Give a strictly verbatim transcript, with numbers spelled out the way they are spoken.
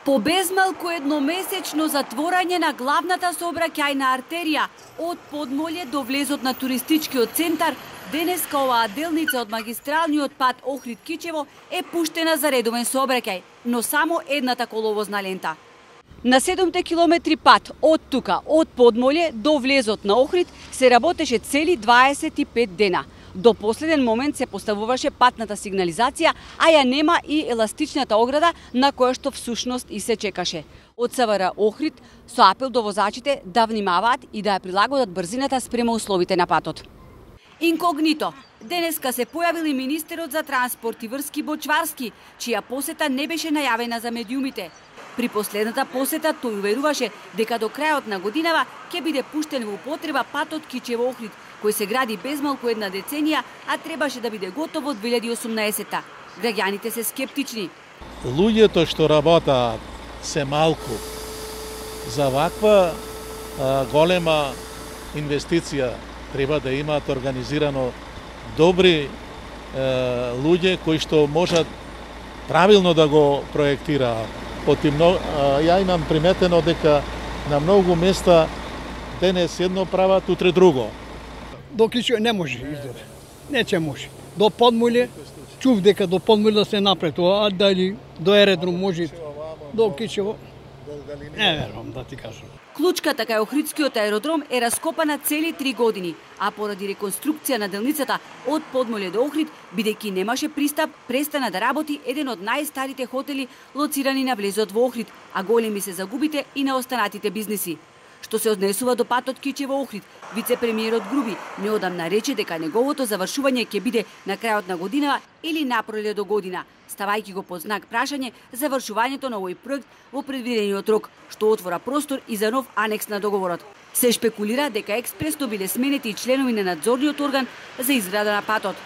По безмалку едномесечно затворање на главната сообраќајна артерија од Подмолје до влезот на туристичкиот центар, денеска оваа делница од магистралниот пат Охрид-Кичево е пуштена за редовен сообраќај, но само едната коловозна лента. На седумте километри пат од тука, од Подмолје до влезот на Охрид, се работеше цели дваесет и пет дена. До последен момент се поставуваше патната сигнализација, а ја нема и еластичната ограда на која што всушност и се чекаше. Од СВР Охрид со апел до возачите да внимаваат и да ја прилагодат брзината спрема условите на патот. Инкогнито, денеска се појавил и министерот за транспорт и врски Бочварски, чија посета не беше најавена за медиумите. При последната посета тој уверуваше дека до крајот на годинава ќе биде пуштен во употреба патот Кичево-Охрид, кој се гради безмалку една деценија, а требаше да биде готов во две илјади и осумнаесетта. Граѓаните се скептични. Луѓето што работаат се малку. За ваква а, голема инвестиција треба да имаат организирано добри а, луѓе кои што можат правилно да го проектираат. Потимно, а, ја имам приметено дека на многу места денес едно прават, утре друго. До Кичево не може издаде. Не че може. До Подмолје, чув дека до Подмолје да се направи тоа, а дали до аеродром може, до Кичево, не верувам да ти кажам. Клучката кај Охридскиот аеродром е раскопана цели три години, а поради реконструкција на делницата од Подмолје до Охрид, бидејќи немаше пристап, престана да работи еден од најстарите хотели лоцирани на влезот во Охрид, а големи се загубите и на останатите бизниси. Што се однесува до патот Кичево-Охрид, вице-премиерот Груби неодамна рече дека неговото завршување ќе биде на крајот на годинава или напроле до година, ставајќи го под знак прашање завршувањето на овој проект во предвидениот рок, што отвора простор и за нов анекс на договорот. Се шпекулира дека експресно биле сменети и членови на надзорниот орган за изграда на патот.